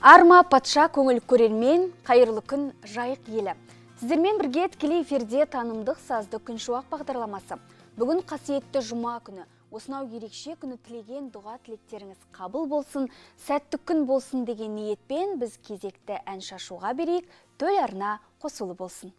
Арма патша көңіл көрермен, қайырлы күн жайық елі. Сіздермен бірге тікелей эфирде танымдық сазды күн шуақ бағдарламасы. Бүгін қасиетті жұма күні. Осынау ерекше күні тілеген дұға тілектеріңіз қабыл болсын, сәтті күн болсын деген ниетпен біз кезекті ән шашуға берейік, төл арна қосылы болсын.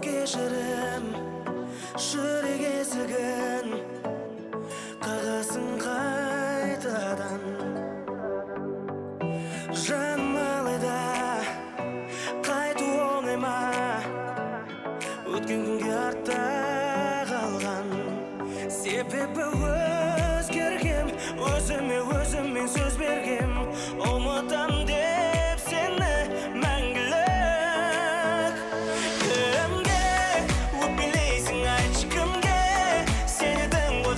Кешірім, жүрек есігін қағасын қайтадан. Жаным алайда қайту оңай ма, өткен күнге артта қалған. Себебі өзгергем, өзіме сөз бергем, ұмытам деп сені мәңгілік.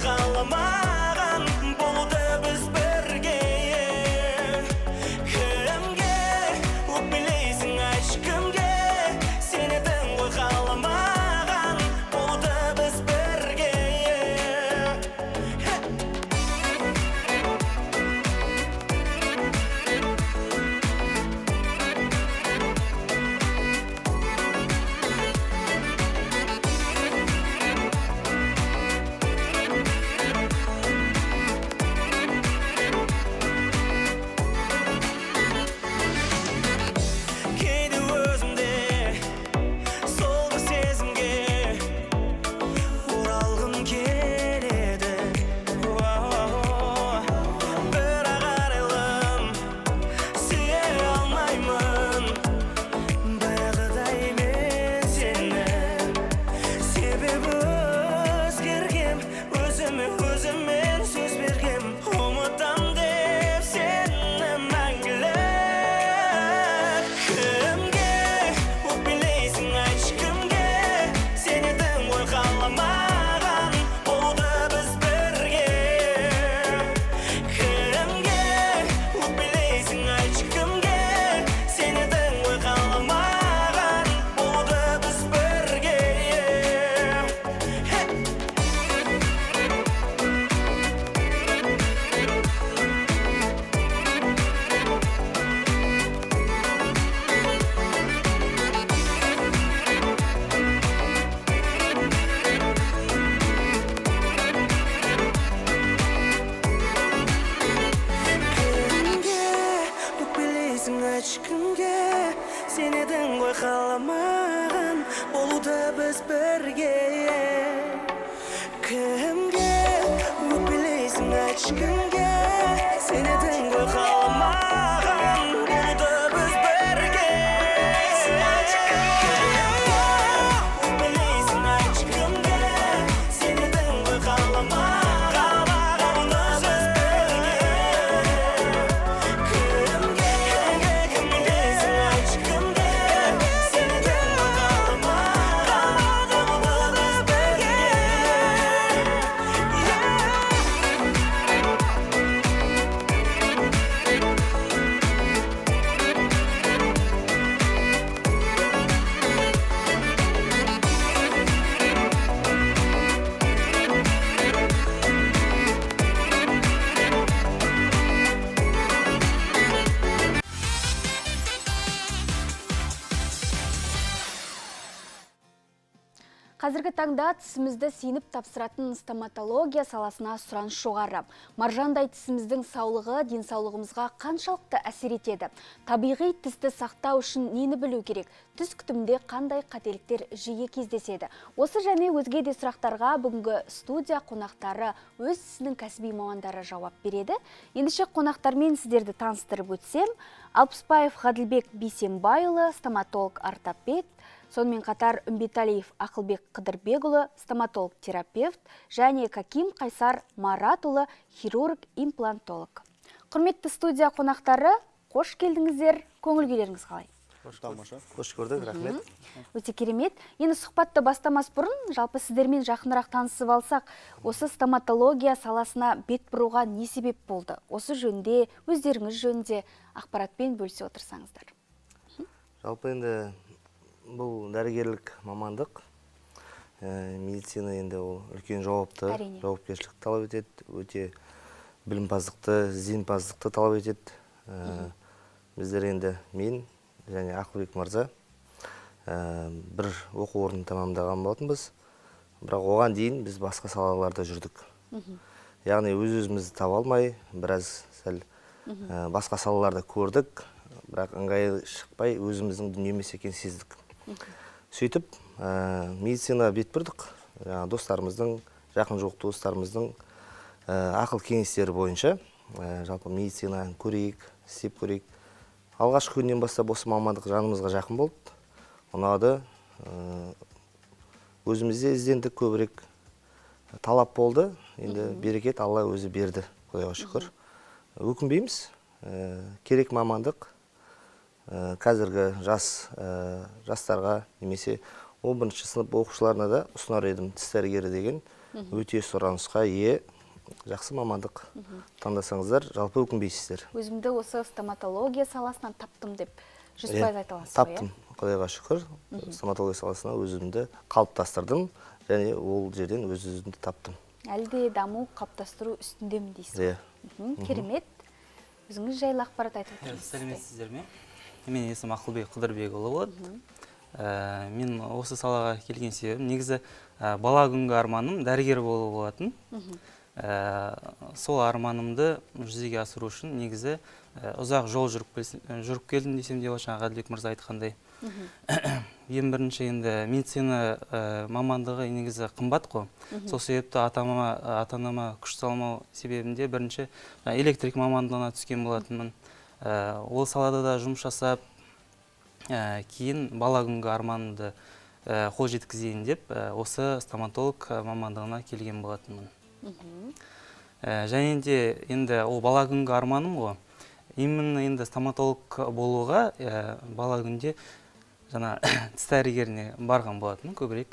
Қаламаған болуды біз бірге. Кімге өкпелейсің, айтшы кімге? Сен едің ғой қаламаған болуды біз бірге. Өзімен сөз бергем, ұмытам деп сені мәңгілік. Кімге өкпелейсің, айтшы кімге? Сен едің ғой қаламаған болуды біз бірге. Кімге өкпелейсің, айтшы кімге? Сен едің ғой қаламаған болуды біз бірге. Кімге сен едің ғой қаламаған болуды біз бірге. Кімге өкпелейсің, айтшы кімге? Сен едің ғой қаламаған болуды біз бірге. Өкпелейсің, айтшы кімге? Сен едің ғой қаламаған. Қазіргі таңда тісімізді сеніп тапсыратын стоматология саласына сұраныс жоғары. Маржандай тісіміздің саулығы денсаулығымызға қаншалықты әсер етеді? Табиғи тісті сақтау үшін нені білу керек? Тіс күтімінде қандай қателіктер жиі кездеседі? Осы және өзге де сұрақтарға бүгінгі студия қонақтары өз ісінің кәсіби мамандары жауап береді. Ендеше қонақтармен сіздерді таныстырып өтсем, Алпысбаев Ғаділбек Бейсенбайұлы, стоматолог ортопед, сонымен қатар Үмбеталиев Ақылбек Қыдырбекұлы, стоматолог-терапевт, және Каким Қайсар Маратұлы, хирург-имплантолог. Құрметті студия қонақтары, қош келдіңіздер, көңіл күйлеріңіз қалай? Тамаша. Қош көрдік, рахмет. Өте керемет. Енді сұхбатты бастамас бұрын, жалпы сіздермен жақынырақ танысып алсақ, осы стоматология саласына бет бұруға не себеп болды? Осы жөнде, өздеріңіз жөнде ақпаратпен бөлісе отырсаңыздар. Жалпы енді бұл дәрігерлік мамандық. Медицина енді ол үлкен жауапкершілік талап етеді, өте білімпаздықты, ізденімпаздықты талап етеді. Біздер енді мен және Ақылбек мырза бір оқу орнын тамамдаған болатынбыз. Бірақ оған дейін біз басқа салаларда жүрдік. Яғни өз-өзімізді таба алмай, біраз сәл басқа салаларда көрдік, бірақ ыңғайлы шықпай өзіміздің дүние емес екенін сездік. Сөйтіп, медицина бет бұрдық. Достарымыздың, жақын жоқ достарымыздың ақыл кеңестері бойынша жалпы медицина көрейік, істеп көрейік. Алғашқы күннен бастап осы мамандық жанымызға жақын болды. Ұнады. Өзімізде іздендік, көбірек талап болды. Енді берекет Алла өзі берді, Құдайға шүкір. Өкінбейміз. Керек мамандық. Қазіргі жастарға немесе 11-ші сынып оқушыларына да ұсынар едім, тіс дәрігері деген өте сұранысқа ие жақсы мамандық таңдасаңыздар, жалпы өкінбейсіздер. Өзімді осы стоматология саласынан таптым деп 100% айта аласыз ба? Таптым, Құдайға шүкір. Стоматология саласына өзімді қалыптастырдым, және ол жерден өз-өзімді таптым. Әлде даму қалыптастыру үстіндемін дейсіз. Керемет. Өзіңіз жайлы ақпарат айтып отырсыз. Сәлеметсіздер ме? Мен есім Ақылбек Қыдырбекұлы болады. Мен осы салаға келген себебім негізі бала күнгі арманым дәрігер болу болатын. Сол арманымды жүзеге асыру үшін негізі ұзақ жол жүріп келдім десем де болады, жаңа Ғаділбек мырза айтқандай. Ең бірінші енді медицина мамандығы негізі қымбат қой. Сол себепті ата-анама күш салмау себебінде бірінші электрик мамандығына түскен болатынмын. Ол салада да жұмыс жасап, кейін бала күнгі арманымды қол жеткізейін деп осы стоматолог мамандығына келген болатынмын. Және де енді ол бала күнгі арманым ғой. Именно енді стоматолог болуға бала күнде жаңа тіс дәрігеріне барған болатын көбірек.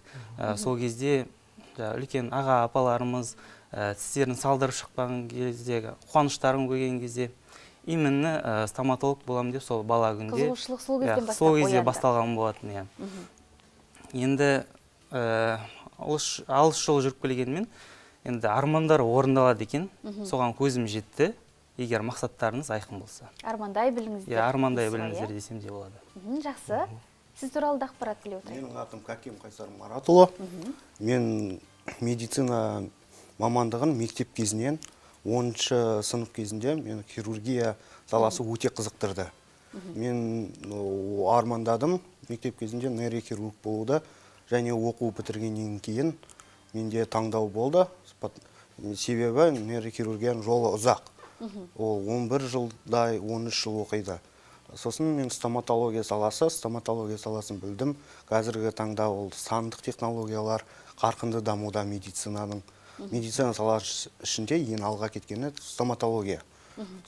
Сол кезде үлкен аға апаларымыз тістерін салдырып шыққан кезде, қуаныштарын көрген кезде именно стоматолог болам деп сол бала күнде сол кезде басталған болатын. Енді алыс жол жүріп келгенмен енді армандар орындалады екен, соған көзім жетті, егер мақсаттарыңыз айқын болса. Армандай біліңіздер. Армандай біліңіздер десем де болады. Жақсы. Сіз туралы ақпарат біле отырайық. Менің атым Кәкем Қайсар Маратұлы. Мен медицина мамандығын мектеп кезінен 10-шы сынып кезінде мен хирургия саласы өте қызықтырды. Мен армандадым мектеп кезінде нейрохирург болуды, және оқу бітіргеннен кейін менде таңдау болды. Себебі нейрохирургияның жолы ұзақ. Ол 11 жылдай, 13 жыл оқиды. Сосын мен стоматология саласын білдім. Қазіргі таңда ол сандық технологиялар қарқынды дамуда медицинаның. Медицина саласы ішінде ең алға кеткені стоматология.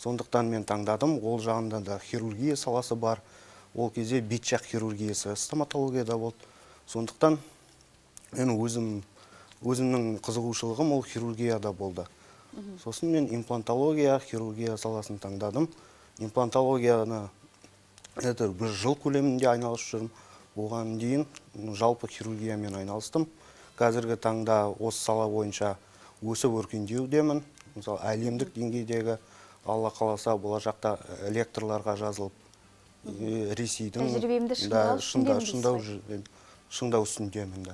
Сондықтан мен таңдадым. Ол жағында да хирургия саласы бар. Ол кезде бетжақ хирургиясы стоматологияда болды. Сондықтан мен өзімнің қызығушылығым ол хирургияда болды. Сосын мен имплантология, хирургия саласын таңдадым. Имплантологияны бір жыл көлемінде айналысып жүрмін. Оған дейін жалпы хирургиямен айналыстым. Қазіргі таңда осы сала бойынша өсіп өркендеудемін. Мысалы, әлемдік деңгейдегі Алла қаласа болашақта лекторларға жазылып, Ресейдің шыңдау үстіндемін.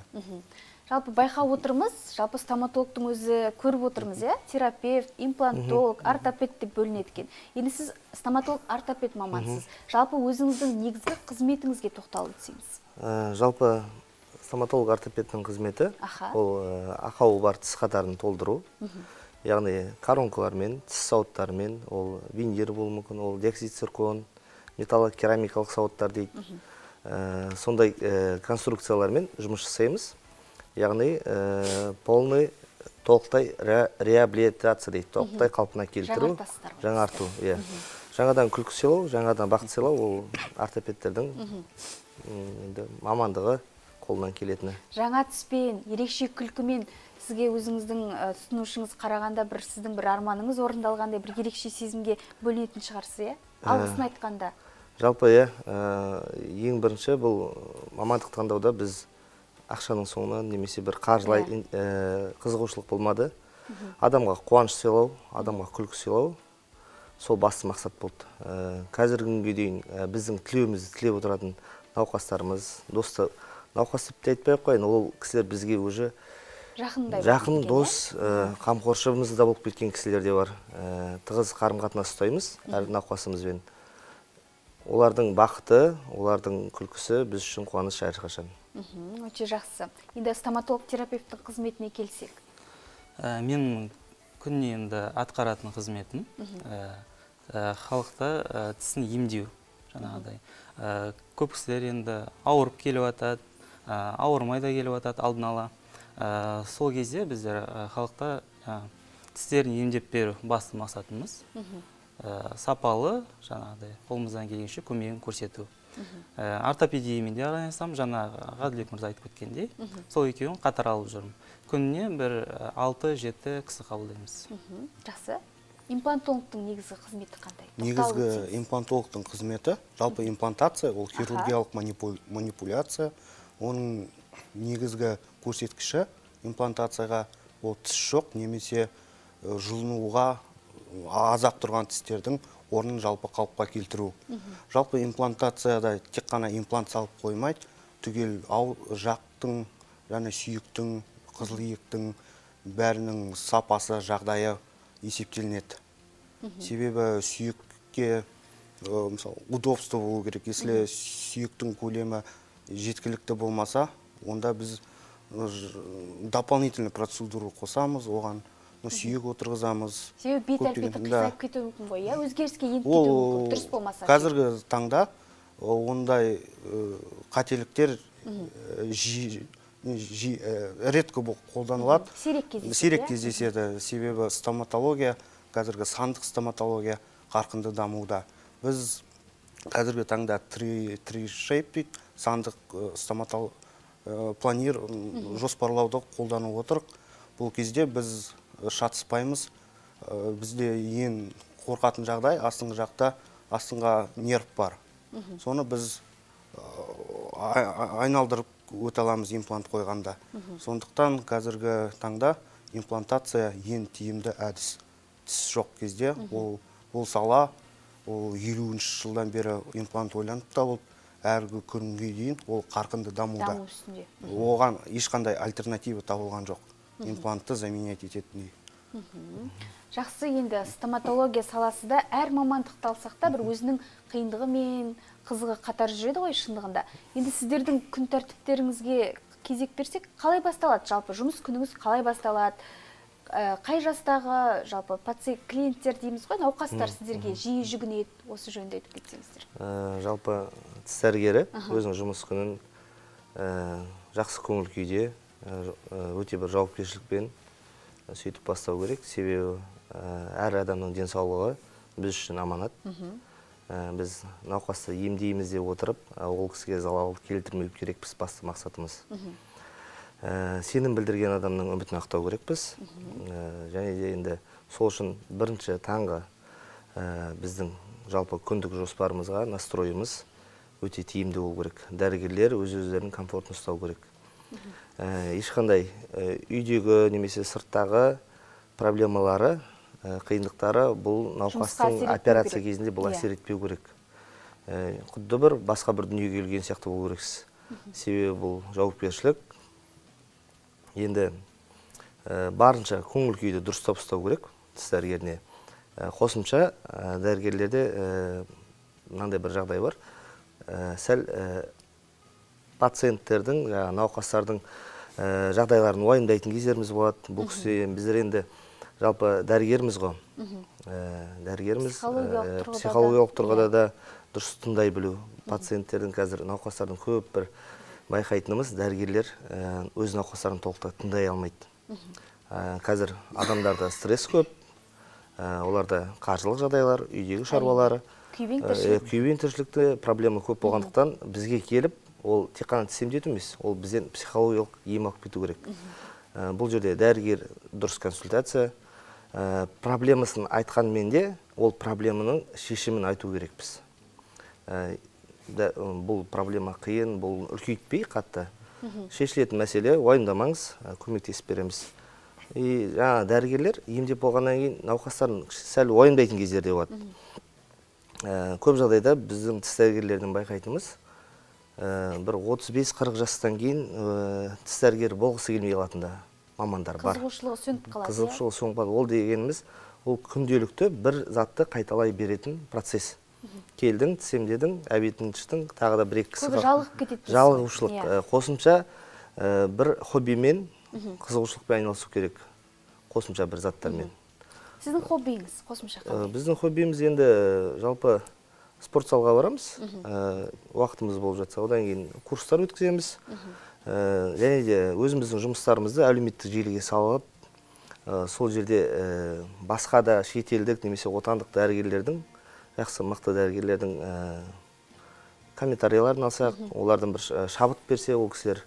Жалпы байқап отырмыз, жалпы стоматологтың өзі көріп отырмыз, терапевт, имплантолог, ортопед деп бөлінеді екен. Енді сіз стоматолог, ортопед мамансыз. Жалпы өзіңіздің негізгі қызметіңізге тоқталып өтсеңіз. Жалпы стоматолог, ортопедтің қызметі ол ақауы бар тіс қатарын толтыру. Яғни коронкалармен, тіс сауыттармен, ол винир болуы мүмкін, ол диоксид циркон, металлокерамикалық сауыттар дейді. Сондай конструкциялармен жұмыс жасаймыз. Яғни полный толықтай реабилитация дейді, толықтай қалпына келтіру, жаңарту. Жаңадан күлкі сыйлау, жаңадан бақыт сыйлау, ол ортопедтердің мамандығы қолынан келетіні. Жаңа түспен, ерекше күлкімен сізге өзіңіздің тұтынушыңыз қарағанда бір сіздің бір арманыңыз орындалғандай бір ерекше сезімге бөлінетін шығарсыз, алғысын айтқанда. Жалпы, ең бірінші бұл мамандық таңдауда біз ақшаның соңынан немесе бір қаржылай қызығушылық болмады. Адамға қуаныш сыйлау, адамға күлкі сыйлау, сол басты мақсат болды. Қазіргі күнге дейін біздің тілеуімізді тілеп отыратын науқастарымыз, досты науқас деп айтпай қойын, ол кісілер бізге уже жақын дос, қамқоршымыз да болып кеткен кісілер де бар. Тығыз қарым-қатынас ұстаймыз әр науқасымызбен. Олардың бақыты, олардың күлкісі біз үшін қуаныш әрқашан. Өте жақсы. Енді стоматолог терапевттің қызметіне келсек. Мен күніне енді атқаратын қызметім халықты тісін емдеу жаңағыдай. Көп кісілер енді ауырып келіп атады, ауырмай да келіп атады алдын ала. Сол кезде біздер халықта тістерін емдеп беру басты мақсатымыз. Сапалы, жаңағыдай, қолымыздан келгенше көмегін көрсету. Ортопедиямен де араласам, жаңа Ғаділбек мырза айтып кеткендей, сол екеуін қатар алып жүрмін. Күніне бір 6-7 кісі қабылдаймыз. Жақсы. Имплантологтың негізгі қызметі қандай? Негізгі имплантологтың қызметі, жалпы имплантация, ол хирургиялық манипуляция. Оның негізгі көрсеткіші имплантацияға ол тіс жоқ, немесе жұлынуға азап тұрған тістердің орнын жалпы қалыпқа келтіру. Жалпы имплантацияда тек қана имплант салып қоймайды, түгел жақтың, және сүйектің, қызылиектің бәрінің сапасы, жағдайы есептелінеді. Себебі сүйекке удобство болу керек. Если сүйектің көлемі жеткілікті болмаса, онда біз дополнительный процедуру қосамыз, оған сүйек отырғызамыз. Себебі бет әлпеті қисайып кетуі мүмкін ғой, өзгеріске еніп кетуі мүмкін, дұрыс болмаса. Қазіргі таңда ондай қателіктер редко қолданылады. Сирек кездеседі. Себебі стоматология, қазіргі сандық стоматология қарқынды дамуда. Біз қазіргі таңда tri-shape дейді, сандық планир жоспарлауды қолданып отырық. Бұл кезде біз шатыспаймыз. Бізде ең қорқатын жағдай, астыңға нерв бар. Соны біз айналдырып өте аламыз имплант қойғанда. Сондықтан қазіргі таңда имплантация ең тиімді әдіс. Тіс жоқ кезде ол сала, ол 50-ші жылдан бері имплант ойланып табылып, әргі күнге дейін ол қарқынды дамуда. Оған ешқандай альтернатива табылған жоқ. Имплантты заменять ететіндей. Жақсы, енді стоматология саласы да әр мамандықты алсақ та бір өзінің қиындығы мен қызығы қатар жүреді ғой шындығында. Енді сіздердің күн тәртіптеріңізге кезек берсек, қалай басталады? Жалпы жұмыс күніңіз қалай басталады? Қай жастағы жалпы клиенттер дейміз ғой, науқастар сіздерге жиі жүгінеді, осы жөнінде айтып кетсеңіздер. Жалпы тіс дәрігері өзінің жұмыс күнін жақсы көңіл күйде, өте бір жауапкершілікпен сөйтіп бастау керек. Себебі әр адамның денсаулығы біз үшін аманат. Біз науқасты емдейміз деп отырып, ол кісіге залал келтірмеу керекпіз, басты мақсатымыз. Сенім білдірген адамның үмітін ақтау керекпіз. Және де енді сол үшін бірінші таңғы біздің жалпы күндік жоспарымызға настройымыз өте тиімді болу керек. Дәрігерлер өз-өздерінің комфортын ұстау керек. Ешқандай үйдегі немесе сырттағы проблемалары, қиындықтары бұл науқастың операция кезінде бұл әсер етпеу керек. Құдды бір басқа бір дүниеге келген сияқты болу керексіз. Себебі бұл жауапкершілік. Енді барынша көңіл күйді дұрыстап ұстау керек тіс дәрігеріне. Қосымша дәрігерлерде мынандай бір жағдай бар. Сәл пациенттердің, науқастардың жағдайларын уайымдайтын кездеріміз болады. Бұл кісі біздер енді жалпы дәрігеріміз ғой. Дәрігеріміз психологиялық тұрғыда да дұрыс тыңдай білу. Пациенттердің қазір науқастардың көп бір байқайтынымыз, дәрігерлер өз науқастарын толықтай тыңдай алмайды. Қазір адамдарда стресс көп, оларда қаржылық жағдайлар, үйдегі шаруалары, күйбең тіршілікті проблема көп болғандықтан бізге келіп, ол тек қана тіс емдету емес, ол бізден психологиялық ем алып кету керек. Бұл жерде дәрігер дұрыс консультация, проблемасын айтқанмен де ол проблеманың шешімін айту керекпіз. Бұл проблема қиын, бұл үлкейтпей қатты. Шешілетін мәселе, уайымдамаңыз, көмектесіп береміз. Жаңа дәрігерлер емдеп болғаннан кейін науқастарын сәл уайымдайтын кездерде болады. Көп жағдайда біздің тіс дәрігерлердің байқайтынымыз, бір 35-40 жастан кейін тіс дәрігері болғысы келмей қалатында мамандар бар. Қызығушылығы сөніп қалады. Қызығушылығы сөніп қалады. Ол дегеніміз, ол күнделікті бір затты қайталай беретін процесс. Келдің, тіс емдедің, әбетін іштің, тағы да бір-екі кісі көбі жалығып кетеді. Жалығушылық. Қосымша бір хоббимен, қызығушылықпен айналысу керек. Қосымша бір заттармен. Сіздің хоббиіңіз қосымша қандай? Біздің хоббиіміз енді жалпы спорт залға барамыз. Уақытымыз болып жатса, одан кейін курстар өткіземіз. Және де өзіміздің жұмыстарымызды әлеуметтік желіге салып, сол жерде басқа да шетелдік немесе отандық дәрігерлердің, жақсы мықты дәрігерлердің комментарияларын алсақ, олардан бір шабыт берсе, ол кісілер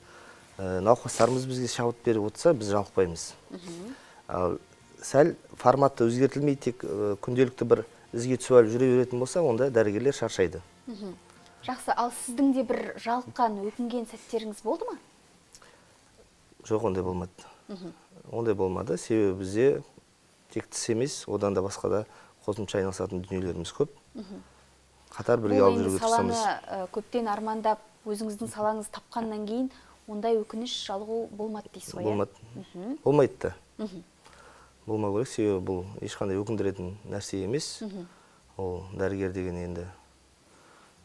науқастарымыз бізге шабыт беріп отырса, біз жалықпаймыз. Сәл форматты өзгертілмей, тек күнделікті бір ізге түсіп алып жүре беретін болса, онда дәрігерлер шаршайды. Жақсы, ал сіздің де бір жалыққан, өкінген сәттеріңіз болды ма? Жоқ, ондай болмады. Ондай болмады, себебі бізде тек тіс емес, одан да басқа да қосымша айналысатын дүниелеріміз көп. Қатар бірге алып жүруге тырысамыз. Саланы көптен армандап, өзіңіздің салаңыз тапқаннан кейін, ондай өкініш, жалығу болмады дейсіз ғой? Болмады. Болмайды да. Болмау керек, себебі бұл ешқандай өкіндіретін нәрсе емес. Ол дәрігер деген енді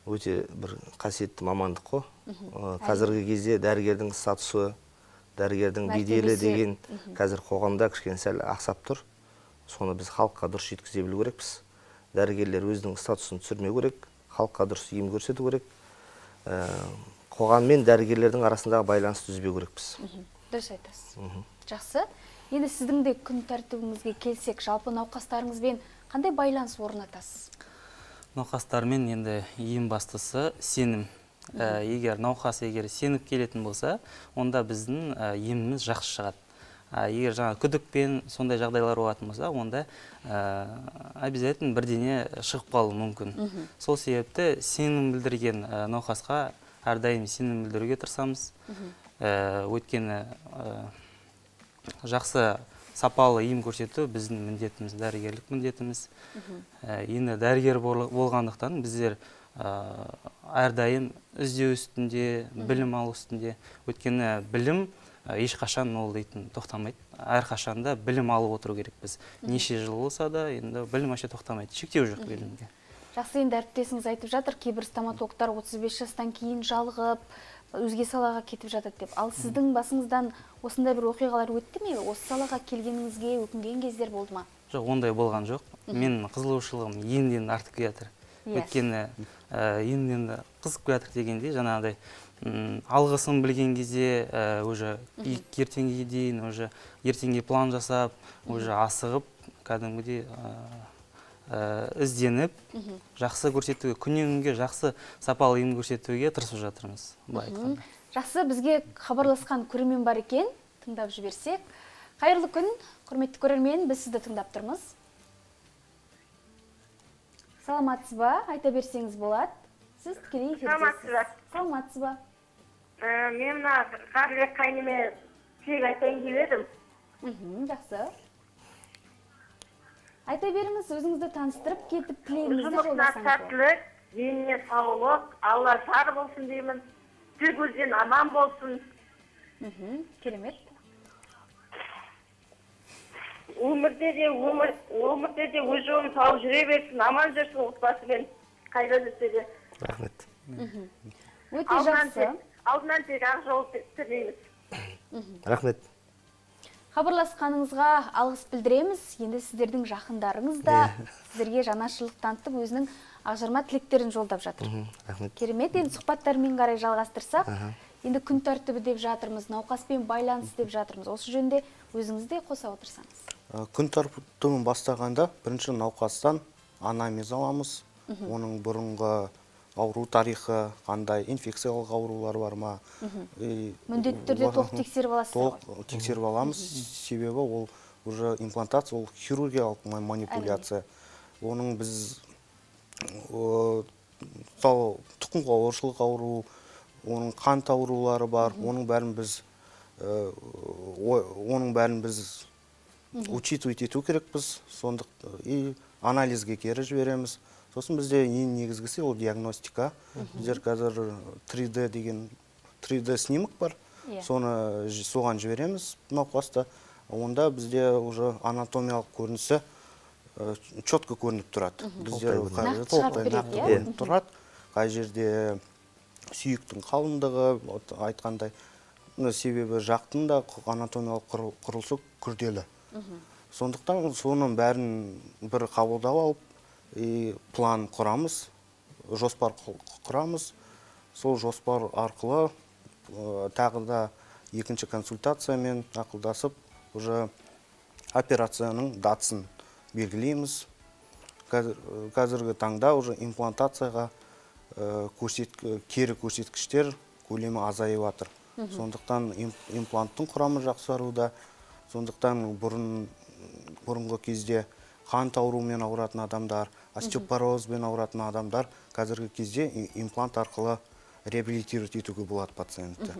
өте бір қасиетті мамандық қой. Қазіргі кезде дәрігердің статусы, дәрігердің беделі деген қазір қоғамда кішкене сәл ақсап тұр. Соны біз халыққа дұрыс жеткізе білу керекпіз. Дәрігерлер өзінің статусын түсірмеу керек, халыққа дұрыс ем көрсету керек. Қоғам мен дәрігерлердің арасындағы байланысты үзбеу керекпіз. Дұрыс айтасыз. Жақсы. Енді сіздің де күн тәртібіңізге келсек, жалпы науқастарыңызбен қандай байланыс орнатасыз? Науқастармен енді ең бастысы сенім. Егер науқас сеніп келетін болса, онда біздің еміміз жақсы шығады. Егер жаңа күдікпен сондай жағдайлар болатын болса, онда обязательно бірдеңе шығып қалуы мүмкін. Сол себепті сенім білдірген науқасқа әрдайым сенім білдіруге тырысамыз. Өйткені жақсы сапалы ем көрсету біздің міндетіміз, дәрігерлік міндетіміз. Енді дәрігер болғандықтан біздер әрдайым іздеу үстінде, білім алу үстінде. Өйткені білім ешқашан ол дейтін тоқтамайды. Әрқашанда білім алып отыру керек біз. Неше жыл болса да, енді білім аша тоқтамайды. Шектеу жоқ білімге. Жақсы, енді әріптесіңіз айтып жатыр, кейбір стоматологтар 35 жастан кейін жалығып, өзге салаға кетіп жатады деп. Ал сіздің басыңыздан осындай бір оқиғалар өтті ме? Осы салаға келгеніңізге өкінген кездер болды ма? Жоқ, ондай болған жоқ. Мен қызығушылығым енден артып келатыр. Өйткені енден қызып келатыр дегенде, жаңағыдай алғысын білген кезде, уже ертеңге дейін, уже ертеңге план жасап, уже асығып, кәдімгідей ізденіп, жақсы көрсетуге, күннен күнге жақсы сапалы ем көрсетуге тырысып жатырмыз. Жақсы, бізге хабарласқан көрермен бар екен, тыңдап жіберсек. Қайырлы күн, құрметті көрермен, біз сізді тыңдап тұрмыз. Саламатсыз ба? Айта берсеңіз болады. Сіз тікелей эфирдесіз. Саламатсыз ба? Мен мына Қарлыбек қайныме тілек айтайын деп едім. Жақсы. Айта беріңіз, өзіңізді таныстырып кетіп, тілегіңізді жолдасаңыз. Жұмысына сәттілік, деніне саулық, Алла жар болсын деймін. Көзден аман болсын. Керемет. Өмірде де өз жолын тауып жүре берсін, аман жүрсін отбасымен, қайда жүрсе де. Рахмет. Өте жақсы. Алдынан тек ақ жол тілейміз. Рахмет. Хабарласқаныңызға алғыс білдіреміз. Енді сіздердің жақындарыңыз да сіздерге жанашырлық танытып, өзінің ақжарма тілектерін жолдап жатыр. Керемет, енді сұхбаттармен қарай жалғастырсақ, енді күн тәртібі деп жатырмыз, науқаспен байланыс деп жатырмыз. Осы жөнде өзіңіз де қоса отырсаңыз. Күн тәртібін бастағанда бірінші науқастан анамнез аламыз. Оның бұрынғы ауру тарихы, қандай инфекциялық аурулар бар ма? Міндетті түрде толық тексеріп аласыз ғой? Толық тексеріп аламыз, себебі ол уже имплантация, ол хирургиялық манипуляция. Оның біз тұқым қуалаушылық ауру, оның қант аурулары бар, оның бәрін біз учитывать ету керекпіз, и анализге кері жібереміз. Сосын бізде ең негізгісі ол диагностика. Біздер қазір 3D деген 3D снимок бар, соған жібереміз науқасты. Онда бізде уже анатомиялық көрінісі четко көрініп тұрады. Біздер нақты тұрады. Қай жерде сүйектің қалыңдығы, айтқандай, себебі жақтың да анатомиялық құрылысы күрделі. Сондықтан соның бәрін бір қабылдап алып, план құрамыз, жоспар құрамыз. Сол жоспар арқылы тағы да екінші консультациямен ақылдасып, уже операцияның датасын белгілейміз. Қазіргі таңда уже имплантацияға кері көрсеткіштер көлемі азайып жатыр. Сондықтан импланттың құрамы жақсаруда. Сондықтан бұрынғы кезде қант ауруымен ауыратын адамдар, остеопорозбен ауыратын адамдар қазіргі кезде имплант арқылы реабилитировать етуге болады пациентті.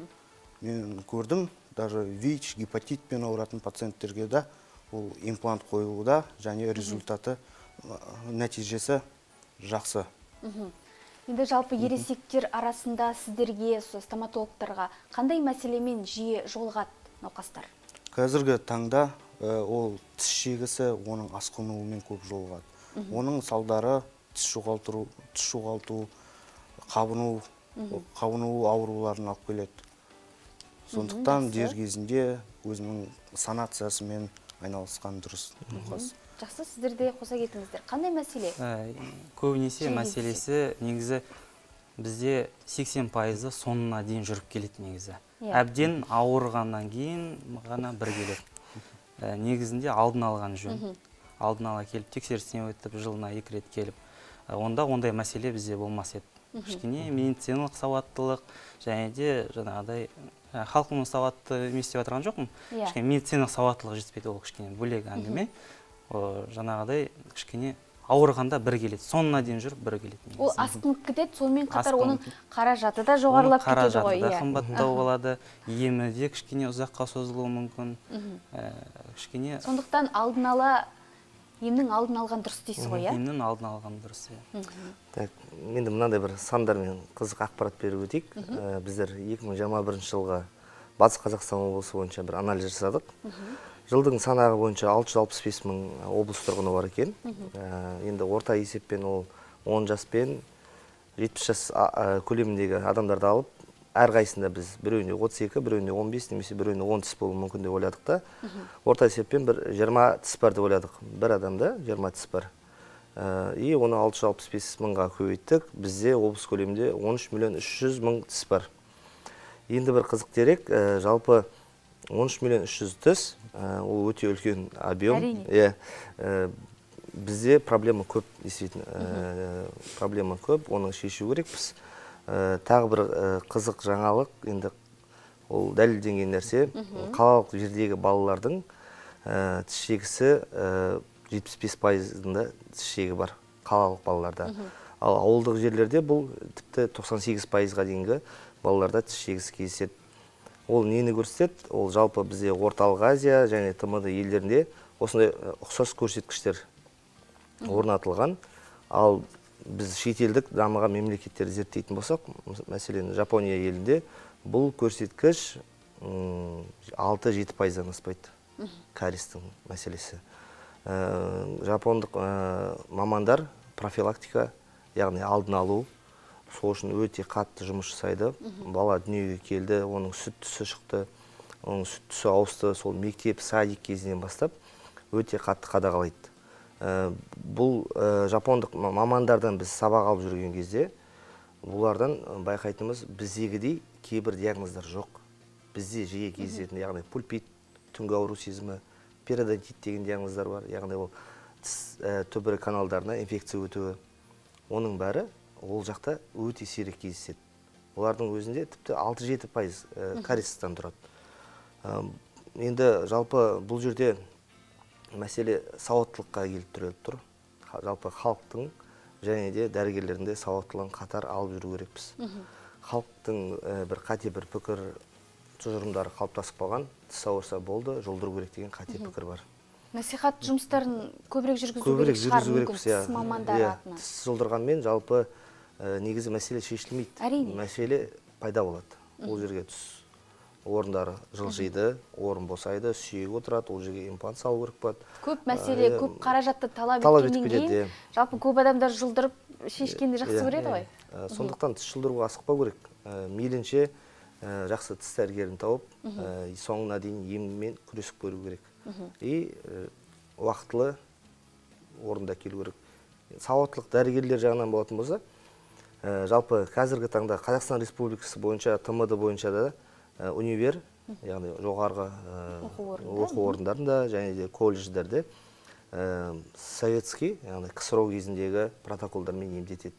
Мен көрдім, даже ВИЧ, гепатитпен ауыратын пациенттерге да ол имплант қойылуда, және результаты, нәтижесі жақсы. Енді жалпы ересектер арасында сіздерге, стоматологтарға қандай мәселемен жиі жолығады науқастар? Қазіргі таңда ол тіс шегісі, оның асқынуымен көп жолығады. Оның салдары тіс жоғалту, қабыну ауруларын алып келеді. Сондықтан дер кезінде өзінің санациясымен айналысқан дұрыс. Жақсы, сіздерде қоса кетіңіздер. Қандай мәселе? Көбінесе мәселесі негізі бізде 80% соңына дейін жүріп келеді негізі. Әбден ауырғаннан кейін ғана бір келеді. Негізінде алдын алған жөн. Алдын ала келіп, тексерістен өтіп, жылына 2 рет келіп. Онда ондай мәселе бізде болмас еді. Кішкене медициналық сауаттылық, және де жаңағыдай халқының сауатты емес деп отырған жоқпын. Кішкене медициналық сауаттылық жетіспейді, ол кішкене бөлек әңгіме. Жаңағыдай кішкене ауырғанда бір келеді, соңына дейін жүріп бір келеді. Ол асқынып кетеді, сонымен қатар оның қаражаты да жоғарылап кетеді ғой. Қаражаты да қымбаттау болады, емі де кішкене ұзаққа созылуы мүмкін. Сондықтан алдын ала емнің алдын алған дұрыс дейсіз ғой, иә? Емнің алдын алған дұрыс, иә. Менде мынандай бір сандармен қызық ақпарат беріп өтейік. Біздер 2021 жылға Батыс Қазақстан облысы бойынша бір анализ жасадық. Жылдың санағы бойынша 665 мың облыс тұрғыны бар екен. Енді орта есеппен ол 10 жас пен 70 жас көлеміндегі адамдарды алып, әрқайсында біз біреуінде 32, біреуінде 15, немесе біреуінде 10 тіс болуы мүмкін деп ойладық та. Орта есеппен бір 20 тіс бар деп ойладық. Бір адамда 20 тіс бар. И оны 665 мыңға көбейттік. Бізде облыс көлемінде 13 миллион 300 мың тіс бар. Енді бір қызық дерек, жалпы 13 миллион 300 тіс, ол өте үлкен объем. Бізде проблема көп, действительно, проблема көп, оның шешу керекпіз. Тағы бір қызық жаңалық, енді ол дәлелденген нәрсе, қалалық жердегі балалардың тіс шегісі 75%-ында тіс шегі бар, қалалық балаларда. Ал ауылдық жерлерде бұл тіпті 98%-ға дейінгі балаларда тіс шегісі кездеседі. Ол нені көрсетеді? Ол жалпы бізде Орталық Азия және ТМД елдерінде осындай ұқсас көрсеткіштер орнатылған. Ал біз шетелдік дамыған мемлекеттерді зерттейтін болсақ, мәселен, Жапония елінде бұл көрсеткіш 6-7%-дан аспайды, кариестің мәселесі. Жапондық мамандар профилактика, яғни алдын алу, сол үшін өте қатты жұмыс жасайды. Бала дүниеге келді, оның сүт түсі шықты, оның сүт түсі ауысты, сол мектеп, садик кезінен бастап өте қатты қадағалайды. Бұл жапондық мамандардан біз сабақ алып жүрген кезде, бұлардан байқайтынымыз біздегідей кейбір диагноздар жоқ. Бізде жиі кездесетін, яғни пульпит, түнгі ауру сезімі, периодонтит деген диагноздар бар, яғни ол тіс түбірі каналдарына инфекция өтуі. Оның бәрі ол жақта өте сирек кездеседі. Олардың өзінде тіпті 6-7% кариестен тұрады. Енді жалпы бұл жерде мәселе сауаттылыққа келіп тіреліп тұр. Жалпы халықтың және де дәрігерлерінде сауаттылығын қатар алып жүру керекпіз. Халықтың бір қате бір пікір тұжырымдары қалыптасып қалған, тіс ауырса болды, жолдыру керек деген қате пікір бар. Насихат жұмыстарын көбірек жүргізу керек шығар, мүмкін тіс мамандары атынан. Тіс жолдырғанмен жалпы негізі мәселе шешілмейді. Әрине. Мәселе пайда болады. Ол жерге тіс орындары жылжиды, орын босайды, сүйек отырады, ол жерге имплант салу керек болады. Көп мәселе, көп қаражатты талап еткеннен кейін, жалпы көп адамдар жылдырып шешкенді жақсы көреді ғой. Сондықтан тіс жылдыруға асықпау керек. Мейлінше жақсы тіс дәрігерін тауып, соңына дейін еммен күресіп көру керек. И уақытылы орында келу керек. Сауаттылық дәрігерлер жағынан болатын болса, жалпы қазіргі таңда Қазақстан Республикасы бойынша, ТМД бойынша да универ, яғни жоғарғы оқу орындарында және де колледждерде советский, яғни КСРО кезіндегі протоколдармен емдетеді.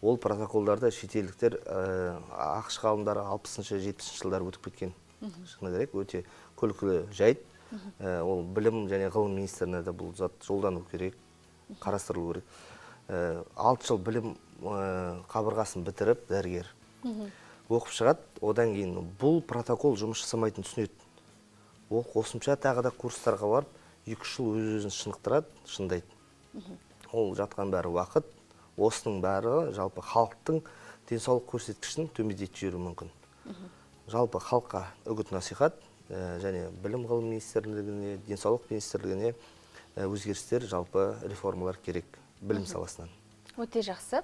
Ол протоколдарды шетелдіктер ақш ғалымдары 60-70 жылдар өтіп кеткен. Шыны керек, өте күлкілі жайт. Ол білім және ғылым министріне де бұл зат жолдану керек, қарастырылу керек. 6 жыл білім қабырғасын бітіріп дәрігер оқып шығады, одан кейін бұл протокол жұмыс жасамайтын түсінеді. Ол қосымша тағы да курстарға барып, 2 жыл өз-өзін шынықтырады, шындайды. Ол жатқан бәрі уақыт, осының бәрі жалпы халықтың денсаулық көрсеткішін төмендетіп жіберуі мүмкін. Жалпы халыққа үгіт насихат және білім ғылым министрлігіне, денсаулық министрлігіне өзгерістер, жалпы реформалар керек білім саласынан. Өте жақсы.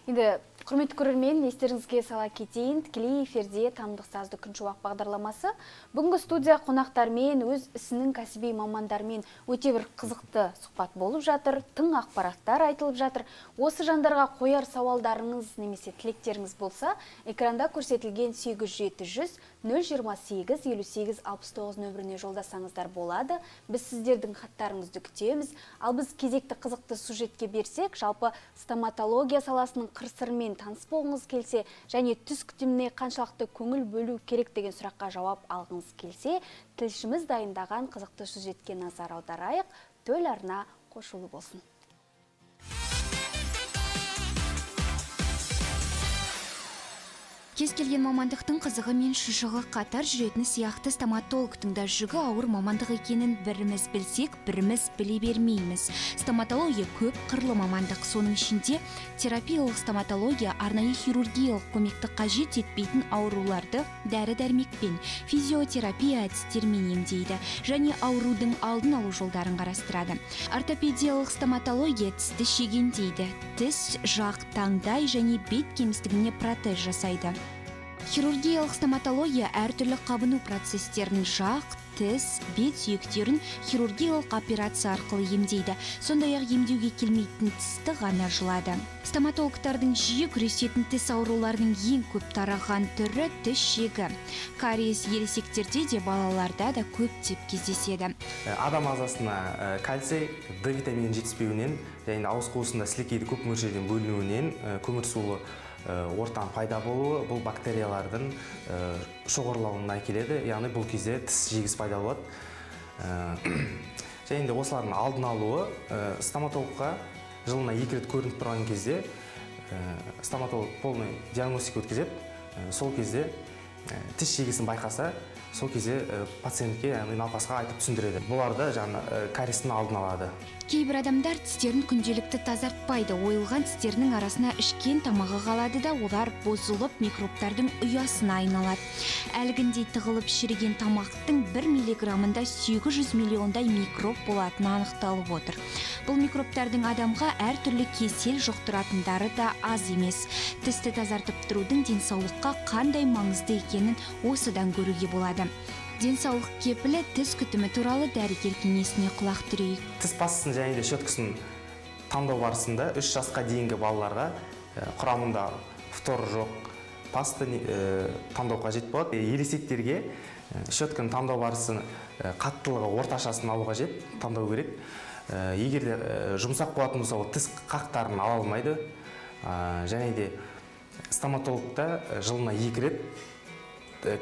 Енді құрметті көрермен, естеріңізге сала кетейін, тікелей эфирде Танымдық сазды күн шуақ бағдарламасы. Бүгінгі студия қонақтармен, өз ісінің кәсіби мамандармен өте бір қызықты сұхбат болып жатыр, тың ақпараттар айтылып жатыр. Осы жандарға қояр сауалдарыңыз немесе тілектеріңіз болса, экранда көрсетілген 800 028 58 69 нөміріне жолдасаңыздар болады. Біз сіздердің хаттарыңызды күтеміз. Ал біз кезекті қызықты сюжетке берсек, жалпы стоматология саласының қыр-сырымен таныс болғыңыз келсе, және түс күтіміне қаншалықты көңіл бөлу керек деген сұраққа жауап алғыңыз келсе, тілшіміз дайындаған қызықты сюжетке назар аударайық. Төл арна қосулы болсын. Кез келген мамандықтың қызығы мен шыжығы қатар жүретіні сияқты стоматологтың да жүгі ауыр мамандық екенін біріміз білсек, біріміз біле бермейміз. Стоматология көп қырлы мамандық, соның ішінде терапиялық стоматология арнайы хирургиялық көмекті қажет етпейтін ауруларды дәрі-дәрмекпен, физиотерапия әдістермен емдейді және аурудың алдын алу жолдарын қарастырады. Ортопедиялық стоматология тісті шегендейді, тіс, жақ, таңдай және бет кемістігіне протез жасайды. Хирургиялық стоматология әртүрлі қабыну процестерін жақ, тіс, бет сүйектерін хирургиялық операция арқылы емдейді. Сондай-ақ емдеуге келмейтін тісті ғана жылады. Стоматологтардың жиі күресетін тіс ауруларының ең көп тараған түрі тіс шегі. Кариес ересектерде де балаларда да көптеп кездеседі. Адам ағзасына кальций, D витаминінің жетіспеуінен және ауыз қуысында сілекейді көп мөлшерден бөлінуінен көмір сулы ортан пайда болуы бұл бактериялардың шоғырлауына әкеледі, яғни бұл кезде тіс жегіз пайда болады. Және де осылардың алдын алуы стоматологқа жылына 2 рет көрініп тұрған кезде стоматолог полный диагностика өткізеді. Сол кезде тіс жегісін байқаса, сол кезде пациентке, яғни науқасқа айтып түсіндіреді. Бұларды жаңа кариестің алдын алады. Кейбір адамдар тістерін күнделікті тазартпайды. Ойылған тістерінің арасына ішкен тамағы қалады да, олар бозылып микробтардың ұясына айналады. Әлгіндей тығылып шіріген тамақтың 1 миллиграммында 800 миллиондай микроб болатыны анықталып отыр. Бұл микробтардың адамға әртүрлі кесел жұқтыратындары да аз емес. Тісті тазартып тұрудың денсаулыққа қандай маңызды екенін осыдан көруге болады. Денсаулық кепілі тіс күтімі туралы дәрігер кеңесіне құлақ түрейік. Тіс пастасын және де щеткасын таңдау барысында 3 жасқа дейінгі балаларға құрамында фтор жоқ пасты таңдау қажет болады. Ересектерге щетканы таңдау барысын қаттылығы орташасын алу қажет, таңдау керек. Егер де жұмсақ болатын болса, ол тіс қақтарын ала алмайды. Және де стоматологта жылына 2 рет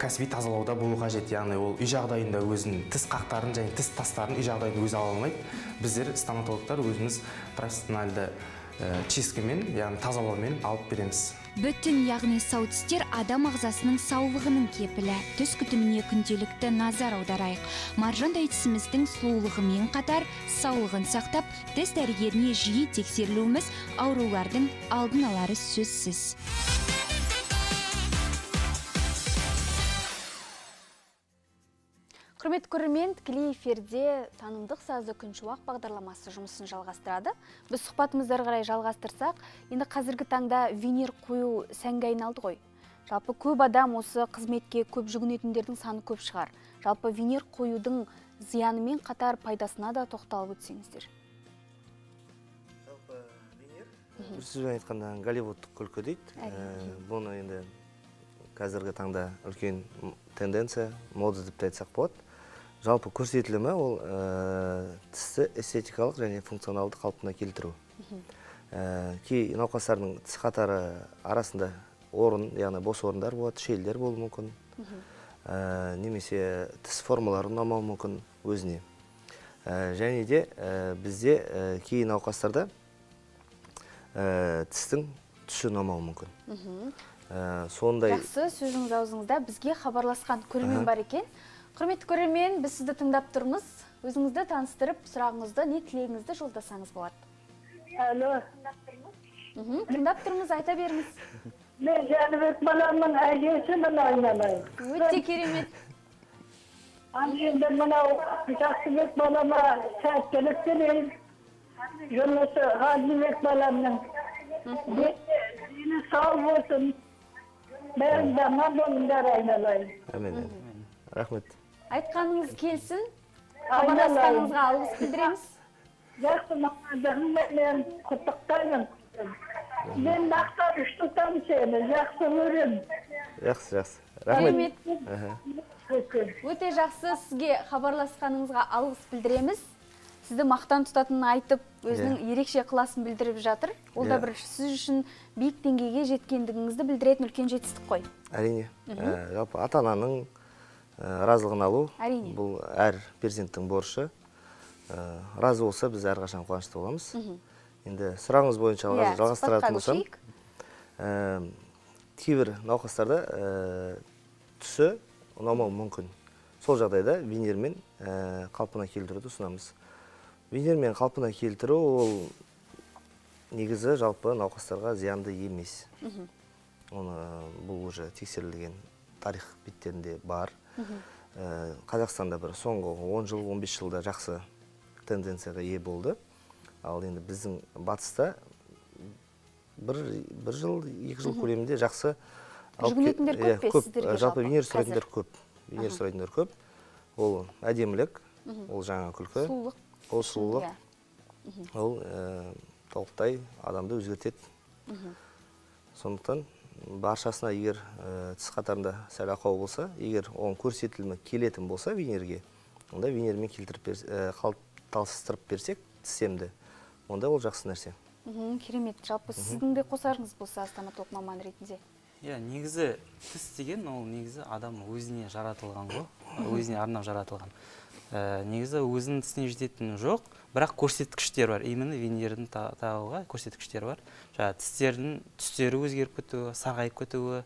кәсіби тазалауда болу қажет. Яғни ол үй жағдайында өзінің тіс қақтарын және тіс тастарын үй жағдайында өзі ала алмайды. Біздер стоматологтар өзіміз профессионалды чисткамен, яғни тазалаумен алып береміз. Бүтін, яғни сау тістер адам ағзасының саулығының кепілі. Түс күтіміне күнделікті назар аударайық. Маржандай тісіміздің сұлулығымен қатар саулығын сақтап, тіс дәрігеріне жиі тексерілуіміз аурулардың алдын алары сөзсіз. Құрметті көрермен, тікелей эфирде танымдық сазды күншуақ бағдарламасы жұмысын жалғастырады. Біз сұхбатымызды қарай жалғастырсақ, енді қазіргі таңда винир қою сәнге айналды ғой. Жалпы көп адам осы қызметке көп жүгінетіндердің саны көп шығар. Жалпы винир қоюдың зиянымен қатар пайдасына да тоқталып өтсеңіздер. Жалпы винир, бір сөзбен айтқанда голливудтық күлкі дейді. Бұны енді қазіргі таңда үлкен тенденция, мода деп айтсақ болады. Жалпы көрсетілімі ол тісті эстетикалық және функционалды қалпына келтіру. Кей науқастардың тіс қатары арасында орын, яғни бос орындар болады, шелдер болуы мүмкін. Немесе тіс формалары ұнамауы мүмкін өзіне. Және де бізде кей науқастарда тістің түсі ұнамауы мүмкін. Жақсы, сөзіңіз аузыңызда бізге хабарласқан көрермен бар екен. Құрметті көрермен, біз сізді тыңдап тұрмыз. Өзіңізді таныстырып, сұрағыңызды, не тілегіңізді жолдасаңыз болады. Алло. Тыңдап тұрмыз, айта беріңіз. Мен Жәнібек баламның әжесімін айналайын. Өте керемет. Енді мынау Жақсыбек балама сәттілік тілеймін. Жұмысы Ғазибек баламның. Дені сау болсын. Бәрін даман болыңдар айналайын. Әмин. Рахмет. Айтқаныңыз келсін. Хабарласқаныңызға алғыс білдіреміз. Жақсы мамандығыңмен мен құттықтаймын. Мен мақтан тұтамын сені, жақсы көремін. Жақсы. Рахмет. Өте жақсы, сізге хабарласқаныңызға алғыс білдіреміз. Сізді мақтан тұтатынын айтып, өзінің ерекше ықыласын білдіріп жатыр. Ол да бір сіз үшін биік деңгейге жеткендігіңізді білдіретін үлкен жетістік қой. Әрине. Жалпы ата-ананың разылығын алу, бұл әр перзенттің борышы. Разы болса, біз әрқашан қуанышты боламыз. Енді сұрағыңыз бойынша жалғастыратын болсам, кейбір науқастарда түсі ұнамауы мүмкін. Сол жағдайда винирмен қалпына келтіруді ұсынамыз. Винирмен қалпына келтіру ол негізі жалпы науқастарға зиянды емес. Бұл уже тексерілген тарих беттерінде бар. Қазақстанда бір соңғы 10 жыл, 15 жылда жақсы тенденцияға ие болды. Ал енді біздің батыста бір жыл, 2 жыл көлемінде жақсы жүгінетіндер көп пе сіздерге жалпы? Винир сұрайтындар көп. Винир сұрайтындар көп. Ол әдемілік, ол жаңа күлкі. Ол сұлулық, ол толықтай адамды өзгертеді. Сондықтан баршасына егер тіс қатарында сәл ақау болса, егер оң көрсетілімі келетін болса винирге, онда винирмен талыстырып берсек тістемді, онда ол жақсы нәрсе. Керемет. Жалпы сіздің де қосарыңыз болса стоматолог маман ретінде? Негізі тіс деген ол негізі адам өзіне жаратылған ғой, өзіне арнап жаратылған. Негізі өзінің тісіне жететін жоқ, бірақ көрсеткіштер бар. Именно винирдің тағуға көрсеткіштер бар. Тістердің түстері өзгеріп кетуі, сарғайып кетуі,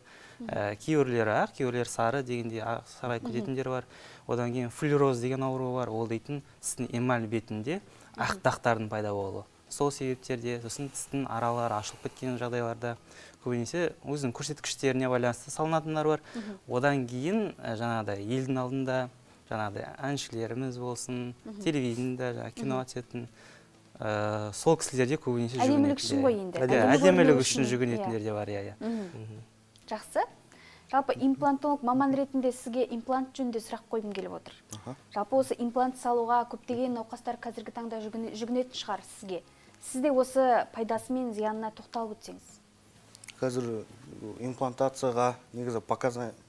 кейбіреулері ақ, кейбіреулері сары дегенде сарғайып кететіндер бар. Одан кейін флюороз деген ауру бар. Ол дейтін тістің эмаль бетінде ақ дақтардың пайда болуы. Сол себептерде, сосын тістің аралары ашылып кеткен жағдайларда көбінесе өзінің көрсеткіштеріне байланысты салынатындар бар. Одан кейін жаңағыдай елдің алдында жаңағыдай әншілеріміз болсын, телевидениеда, кино түсетін, сол кісілерде көбінесе жүгінетіндер. Әдемілік үшін ғой енді. Әдемілік үшін жүгінетіндер де бар, Жақсы. Жалпы имплантолог маман ретінде сізге имплант жөнінде сұрақ қойғым келіп отыр. Жалпы осы имплант салуға көптеген науқастар қазіргі таңда жүгінетін шығар сізге. Сізде осы пайдасы мен зиянына тоқталып өтсеңіз. қазір имплантацияға негізі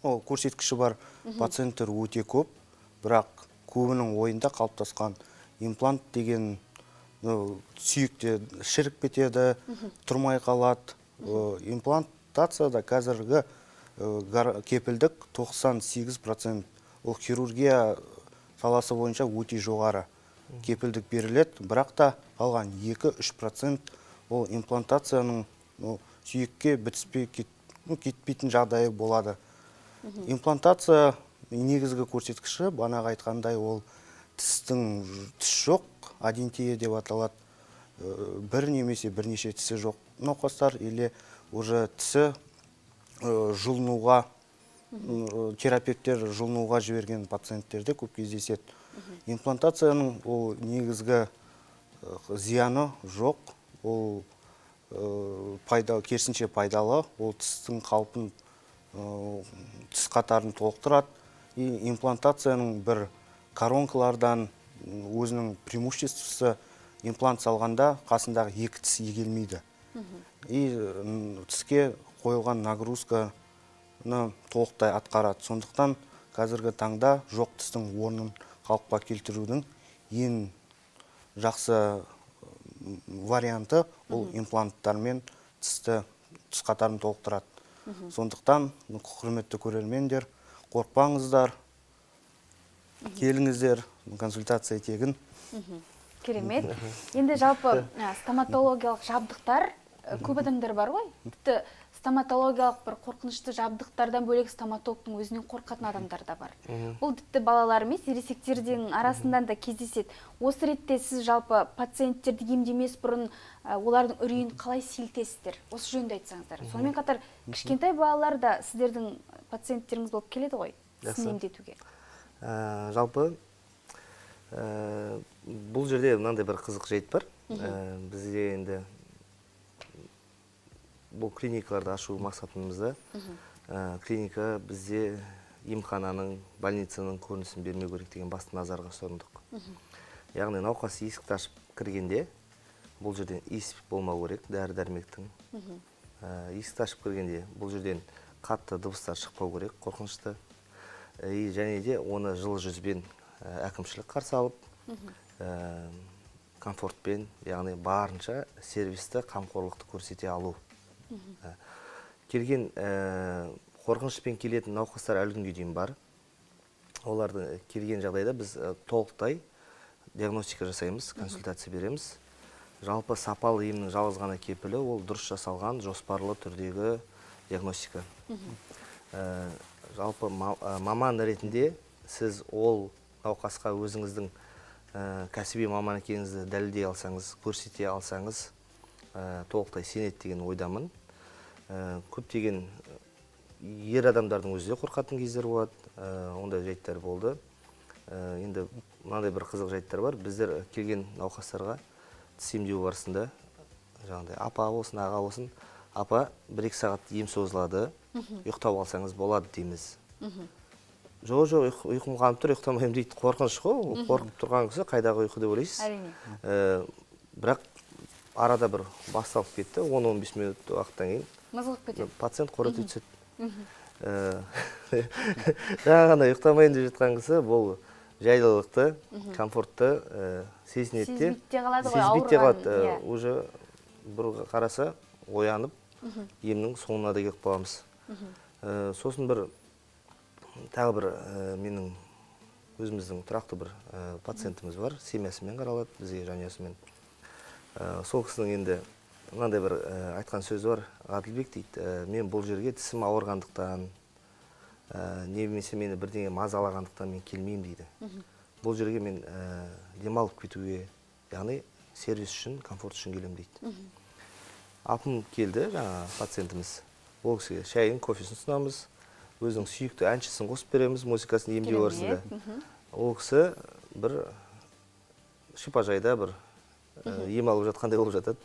көрсеткіші бар пациенттер өте көп, бірақ көбінің ойында қалыптасқан имплант деген сүйекте шіріп кетеді, тұрмай қалады. Имплантацияда қазіргі кепілдік 98%. Ол хирургия саласы бойынша өте жоғары кепілдік беріледі, бірақ та қалған 2-3% ол имплантацияның сүйекке бітіспей кетпейтін жағдайы болады. Имплантация негізгі көрсеткіші, бағанағы айтқандай, ол тіс жоқ, адентия деп аталады. Бір немесе бірнеше тісі жоқ науқастар, или уже тісі жұлынуға, терапевттер жұлынуға жіберген пациенттерде көп кездеседі. Имплантацияның ол негізгі зияны жоқ, ол керісінше пайдалы, ол тістің қалпын, тіс қатарын толықтырады. Имплантацияның бір коронкалардан өзінің преимуществосы, имплант салғанда қасындағы 2 тіс егелмейді. Тіске қойылған нагрузканы толықтай атқарады. Сондықтан қазіргі таңда жоқ тістің орнын қалыпқа келтірудің ең жақсы варианты ол импланттармен тіс қатарын толықтырады. Сондықтан, құрметті көрермендер, қорықпаңыздар, келіңіздер, консультация тегін. Керемет. Енді жалпы стоматологиялық жабдықтар көп адамдар бар ғой. Тіпті стоматологиялық бір қорқынышты жабдықтардан бөлек стоматологтың өзінен қорқатын адамдар да бар. Бұл тіпті балалар емес, ересектердің арасынан да кездеседі. Осы ретте сіз жалпы пациенттерді емдемес бұрын олардың үрейін қалай сейілтесіздер? Осы жөнінде айтсаңыздар. Сонымен қатар кішкентай балалар да сіздердің пациенттеріңіз болып келеді ғой, сізді емдетуге. Жалпы бұл жерде мынандай бір қызық жайт бар. Бізде енді бұл клиникаларды ашу мақсатымызда клиника бізде емхананың, больницаның көрінісін бермеу керек деген басты назарға ұсындық. Яғни науқас есікті ашып кіргенде бұл жерден иіс болмау керек, дәрі-дәрмектің. Есікті ашып кіргенде бұл жерден қатты дыбыстар шықпау керек, қорқынышты. Және де оны жылы жүзбен әкімшілік қарсы алып, комфортпен, яғни барынша сервисті, қамқорлықты көрсете алу. Келген қорқынышпен келетін науқастар әлі күнге дейін бар. Оларды келген жағдайда біз толықтай диагностика жасаймыз, консультация береміз. Жалпы сапалы емнің жалғыз ғана кепілі ол дұрыс жасалған жоспарлы түрдегі диагностика. Жалпы маман ретінде сіз ол науқасқа өзіңіздің кәсіби маман екеніңізді дәлелдей алсаңыз, көрсете алсаңыз, толықтай сенеді деген ойдамын. Көптеген ер адамдардың өзі де қорқатын кездер болады, ондай жайттар болды. Енді мынандай бір қызық жайттар бар. Біздер келген науқастарға тіс емдеу барысында, жаңағыдай апа болсын, аға болсын, апа 1-2 сағат ем созылады, ұйықтап алсаңыз болады дейміз. Жоқ, ұйқым қанып тұр, ұйықтамайым дейді. Қорқыныш қой, қорқып тұрған кісі қайдағы ұйқы деп ойлайсыз. Әрине. Бірақ арада бір басталып кетті, 10-15 минут уақыттан кейін мызғып кетеді. Пациент қорыты түседі. Жаңағында ұйықтамайын деп жатқан кісі бұл жайлылықты, комфортты сезінеді де. Сезбейте қалады ғой, Сезбейте қалады. Уже бір қараса оянып, емнің соңына да келіп қаламыз. Сосын тағы бір менің өзіміздің тұрақты бір пациентіміз бар, семьясымен қаралады, бізге жанұясымен. Сол кісінің енді мынандай бір айтқан сөзі бар, Ғаділбек дейді, мен бұл жерге тісім ауырғандықтан, немесе мені бірдеңе мазалағандықтан мен келмеймін дейді. Бұл жерге мен демалып кетуге, яғни сервис үшін, комфорт үшін келем дейді. Апым келді, жаңа пациентіміз. Ол кісіге шайын, кофесін ұсынамыз, өзінің сүйікті әншісін қосып береміз, музыкасын емдеу барысында. Ол кісі бір шипажайда бір ем алып жатқандай болып жатады.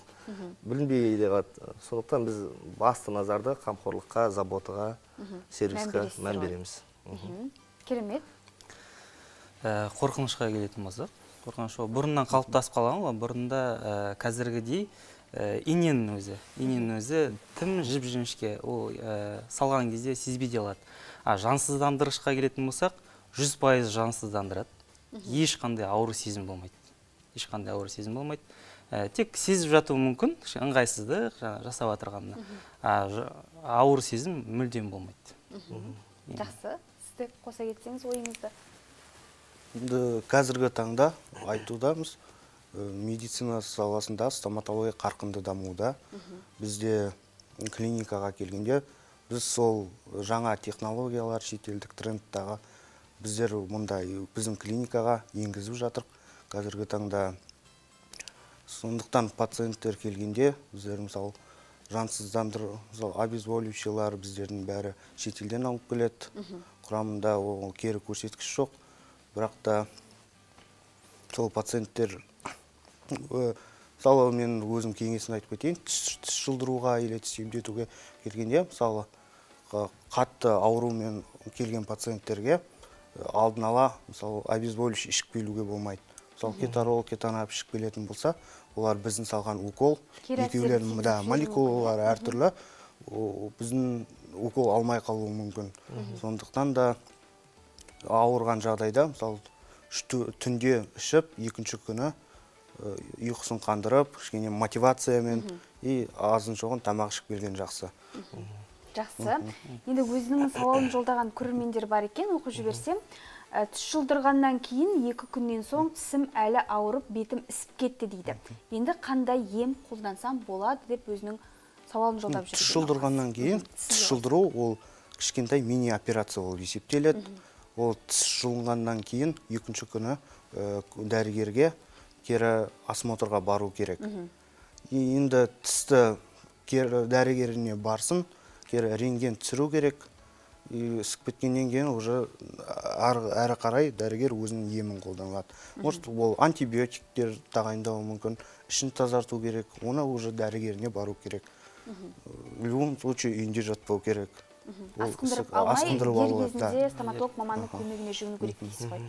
Білінбей де қалады. Сондықтан біз басты назарды қамқорлыққа, заботаға, сервиске мән береміз. Керемет. Қорқынышқа келетін болсақ, қорқыныш бұрыннан қалыптасып қалған ғой. Бұрында қазіргідей иненің өзі тым жіп-жіңішке, ол салған кезде сезбей де алады. Жансыздандырғышқа келетін болсақ, 100% жансыздандырады. Ешқандай ауыр сезім болмайды. Тек сезіп жатуы мүмкін, ыңғайсыздық жасап отырғанына. Ауыр сезім мүлдем болмайды. Жақсы, сізді қоса кетсеңіз ойыңызды. Қазіргі таңда айтудамыз, медицина саласында стоматология қарқынды дамуда. Бізде клиникаға келгенде, біз сол жаңа технологиялар, шетелдік трендтағы біздер мұндай біздің клиникаға енгізіп жатыр. Қазіргі таңда сондықтан пациенттер келгенде біздер мысалы обезболивающиялар біздердің бәрі шетелден алып келеді. Құрамында ол кері көрсеткіш жоқ. Бірақ та сол пациенттер, мысалы мен өзім кеңесін айтып кетейін, тіс жұлдыруға или тіс емдетуге келгенде, мысалы қатты аурумен келген пациенттерге алдын ала мысалы обезболивающий ішіп келуге болмайды. Мысалы кетарол, кетанап ішіп келетін болса, олар біздің салған укол, екеулерінің молекулалары әртүрлі, біздің укол алмай қалуы мүмкін. Сондықтан да ауырған жағдайда, мысалы түнде ішіп, екінші күні ұйқысын қандырып, кішкене мотивациямен азын шоғын тамақ ішіп келген жақсы. Жақсы. Енді өзінің сауалын жолдаған көрермендер бар екен, оқып жіберсем. Тіс жұлдырғаннан кейін 2 күннен соң тісім әлі ауырып, бетім ісіп кетті дейді. Енді қандай ем қолдансам болады деп өзінің сауалын жолдап жүрген. Тіс жұлдырғаннан кейін тіс жұлдыру ол кішкентай мини операция болып есептеледі. Ол тіс жұлынғаннан кейін екінші күні дәрігерге кері осмотрға бару керек. Енді тісті дәрігеріне барсын, кері рентген түсіру керек. Ісіп кеткеннен кейін уже әрі қарай дәрігер өзінің емін қолданады. Может, ол антибиотиктер тағайындауы мүмкін, ішін тазарту керек, оны уже дәрігеріне бару керек. В любом случае үйінде жатпау керек. Асқындырып алмай, дер кезінде стоматолог маманның көмегіне жүгіну керек дейсіз ғой.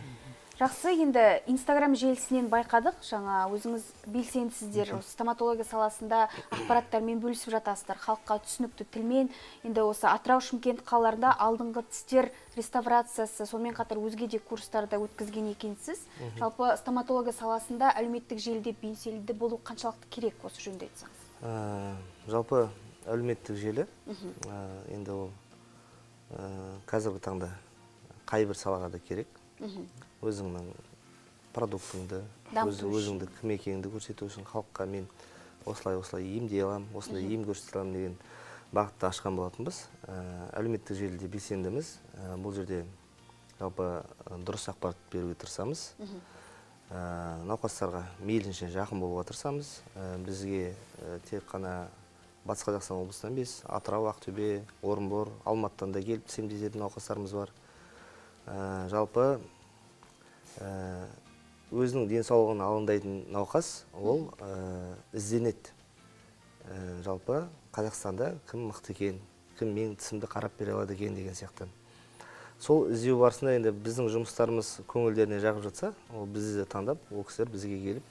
Жақсы, енді Инстаграм желісінен байқадық, жаңа өзіңіз белсендісіздер, стоматология саласында ақпараттармен бөлісіп жатасыздар, халыққа түсінікті тілмен. Енді осы Атырау, Шымкент қалаларында алдыңғы тістер реставрациясы, сонымен қатар өзге де курстарда өткізген екенсіз. Жалпы стоматология саласында әлеуметтік желіде белсенді болу қаншалықты керек, осы жөнінде айтсаңыз? Жалпы әлеуметтік желі, енді ол қазіргі таңда қайбір салаға да керек. Өзіңнің продуктыңды, өзіңді кім екеніңді көрсету үшін халыққа мен осылай емдей алам, осындай ем көрсете алам деген бағытты ашқан болатынбыз. Әлеуметтік желіде белсендіміз. Бұл жерде жалпы дұрыс ақпарат беруге тырысамыз. Науқастарға мейлінше жақын болуға тырысамыз. Бізге тек қана Батыс Қазақстан облысынан емес, Атырау, Ақтөбе, Орынбор, Алматыдан да келіп емдететін науқастарымыз бар. Жалпы өзінің денсаулығын алаңдайтын науқас ол ізденеді. Жалпы Қазақстанда кім мықты екен, кім менің тісімді қарап бере алады екен деген сияқты. Сол іздеу барысында енді біздің жұмыстарымыз көңілдеріне жағып жатса, ол бізді таңдап, ол кісілер бізге келіп,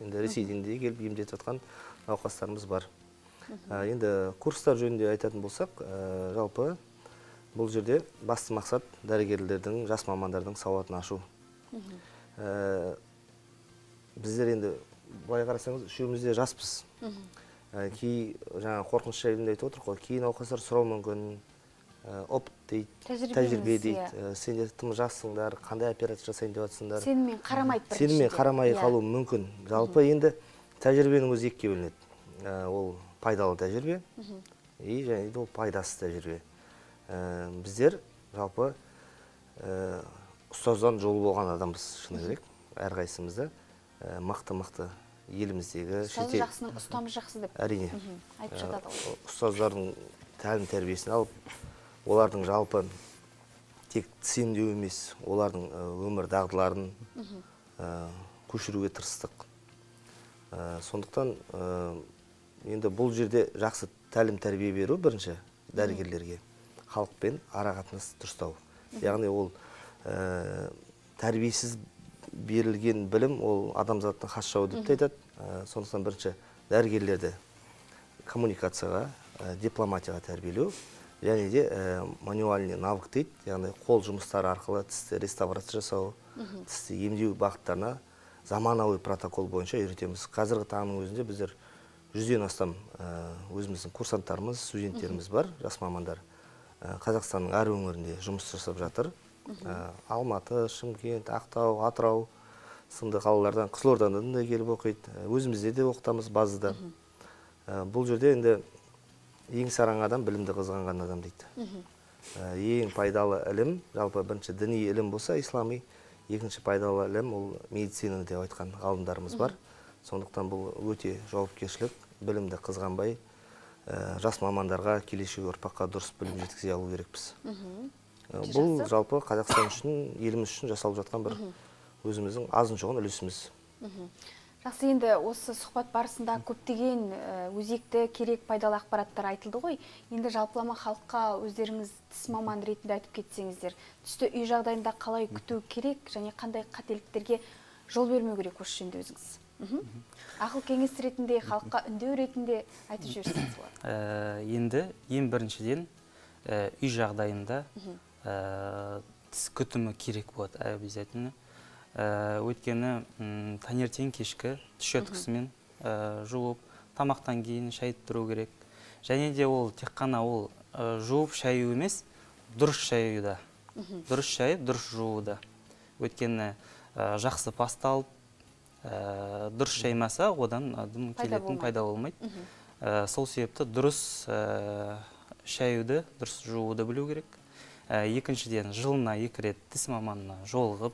енді Ресейден де келіп емдетіп жатқан науқастарымыз бар. Енді курстар жөнінде айтатын болсақ, жалпы бұл жерде басты мақсат дәрігерлердің, жас мамандардың сауатын ашу. Біздер енді былай қарасаңыз, үшеумізде жаспыз. Жаңа қорқыныш жайында айтып отырық қой, кейін науқастар сұрау мүмкін, опыт дейді, тәжірибе дейді, сендер тым жассыңдар, қандай операция жасайын деп жатсыңдар. Сенімен қарамайды біріншіден. Сенімен қарамай қалуы мүмкін. Жалпы енді тәжірибенің өзі екіге бөлінеді. Ол пайдалы тәжірибе, және ол пайдасыз тәжірибе. Біздер жалпы ұстаздан жолы болған адамбыз, шыны керек, әрқайсымызда мықты еліміздегі ұстазы жақсының ұстамыз жақсы деп әрине айтып жатады. Ұстаздардың тәлім тәрбиесін алып, олардың жалпы тек тіс емдеу емес, олардың өмір дағдыларын көшіруге тырыстық. Сондықтан енді бұл жерде жақсы тәлім тәрбие беру бірінші дәрігерлерге, халықпен ара-қатынас дұрыстау. Яғни ол тәрбиесіз берілген білім, ол адамзаттың хас жауы деп те айтады. Сондықтан бірінші дәрігерлерді коммуникацияға, дипломатияға тәрбиелеу, және де мануальный навык дейді, яғни қол жұмыстары арқылы тісті реставрация жасау, тісті емдеу бағыттарына заманауи протокол бойынша үйретеміз. Қазіргі таңның өзінде біздер 100-ден астам өзіміздің курсанттарымыз, студенттеріміз бар, жас мамандар. Қазақстанның әр өңірінде жұмыс жасап жатыр. Алматы, Шымкент, Ақтау, Атырау сынды қалалардан, Қызылордадан да келіп оқиды. Өзімізде де оқытамыз базада. Бұл жерде енді ең сараң адам білімді қызғанған адам дейді. Ең пайдалы ілім, жалпы бірінші діни ілім болса, ислами, екінші пайдалы ілім ол медицина деп айтқан ғалымдарымыз бар. Сондықтан бұл өте жауапкершілік, білімді қызғанбай, жас мамандарға, келешек ұрпаққа дұрыс білім жеткізе алу керекпіз. Бұл жалпы Қазақстан үшін, еліміз үшін жасалып жатқан бір өзіміздің азын жоғын үлесіміз. Жақсы, енді осы сұхбат барысында көптеген өзекті керек пайдалы ақпараттар айтылды ғой. Енді жалпылама халыққа өздеріңіз тіс маманы ретінде айтып кетсеңіздер, түсті үй жағдайында қалай күту керек және қандай қателіктерге жол бермеу керек осы жөнінде өзіңіз? Ақыл кеңес ретінде, халыққа үндеу ретінде айтып жіберсеңіз болады. Енді ең біріншіден үй жағдайында тіс күтімі керек болады обязательно. Өйткені таңертең кешкі тіс щеткасымен жуып, тамақтан кейін шайып тұру керек. Және де ол тек қана ол жуып шаю емес, дұрыс шаюда. Дұрыс шайып, дұрыс жууда. Өйткені жақсы паста алып, дұрыс шаймаса, одан келетін пайда болмайды. Сол себепті дұрыс шаюды, дұрыс жууды білу керек. Екіншіден, жылына 2 рет тіс маманына жолығып,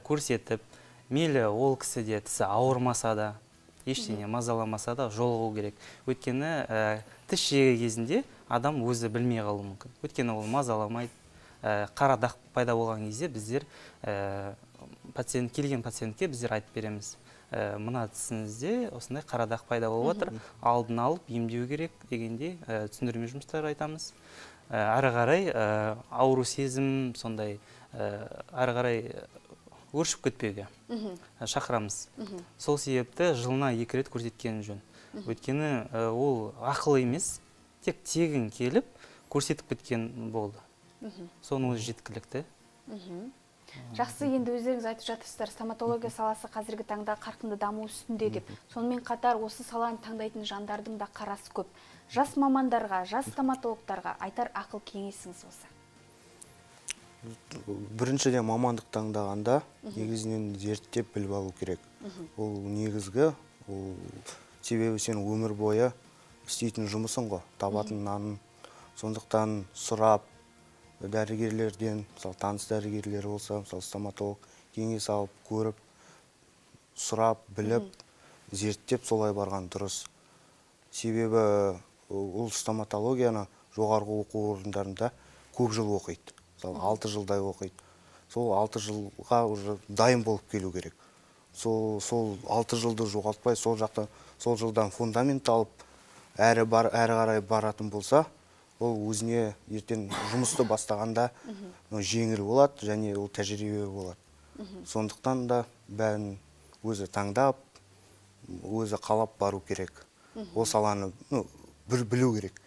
көрсетіп, мейлі ол кісіде тісі ауырмаса да, ештеңе мазаламаса да жолығу керек. Өйткені тіс жеген кезінде адам өзі білмей қалуы мүмкін. Өйткені ол мазаламайды. Қара дақ пайда болған кезде біздер келген пациентке біздер айтып береміз. Мына тісіңізде осындай қара дақ пайда болып отыр, алдын алып емдеу керек дегенде түсіндірме жұмыстар айтамыз. Әрі қарай ауру сезім, сондай әрі қарай өршіп кетпеуге шақырамыз. Сол себепті жылына 2 рет көрсеткен жөн. Өйткені ол ақыл емес, тек тегін келіп көрсетіп кеткен болды. Соның өзі жеткілікті. Жақсы, енді өздеріңіз айтып жатырсыздар, стоматология саласы қазіргі таңда қарқынды даму үстінде деп. Сонымен қатар осы саланы таңдайтын жандардың да қарасы көп. Жас мамандарға, жас стоматологтарға айтар ақыл кеңесіңіз осы? Біріншіден мамандық таңдағанда негізінен зерттеп біліп алу керек. Ол негізгі, себебі сен өмір бойы істейтін жұмысың ғой, табатын нанын. Сондықтан сұрап, дәрігерлерден, таныс дәрігерлер болса, стоматолог кеңес алып, көріп, сұрап, біліп, зерттеп солай барған дұрыс. Себебі ол стоматологияны жоғарғы оқу орындарында көп жыл оқиды. 6 жылдай оқиды. Сол 6 жылға дайын болып келу керек. Сол 6 жылды жоғалтпай, сол жылдан фундамент алып, әрі қарай баратын болса, ол өзіне ертең жұмысты бастағанда жеңіл болады, және ол тәжірибе болады. Сондықтан да бәрін өзі таңдап, өзі қалап бару керек. Ол саланы білу керек.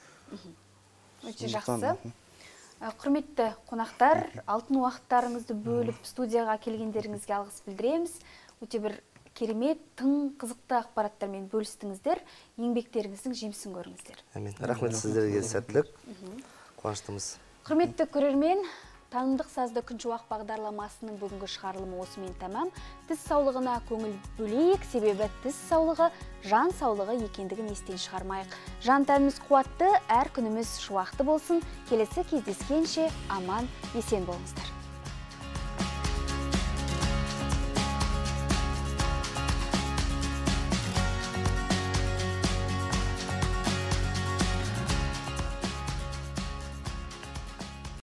Өте жақсы. Құрметті қонақтар, алтын уақыттарыңызды бөліп студияға келгендеріңізге алғыс білдіреміз. Өте бір керемет, тың қызықты ақпараттармен бөлістіңіздер, еңбектеріңіздің жемісін көріңіздер. Рахмет сіздерге, сәттілік, қуаныштымыз. Құрметті көрермен, Танымдық сазды күншуақ бағдарламасының бүгінгі шығарылымы осымен тәмам. Тіс саулығына көңіл бөлейік, себебі тіс саулығы жан саулығы екендігін естен шығармайық. Жан тәніміз қуатты, әр күніміз шуақты болсын. Келесі кездескенше аман, есен болыңыздар.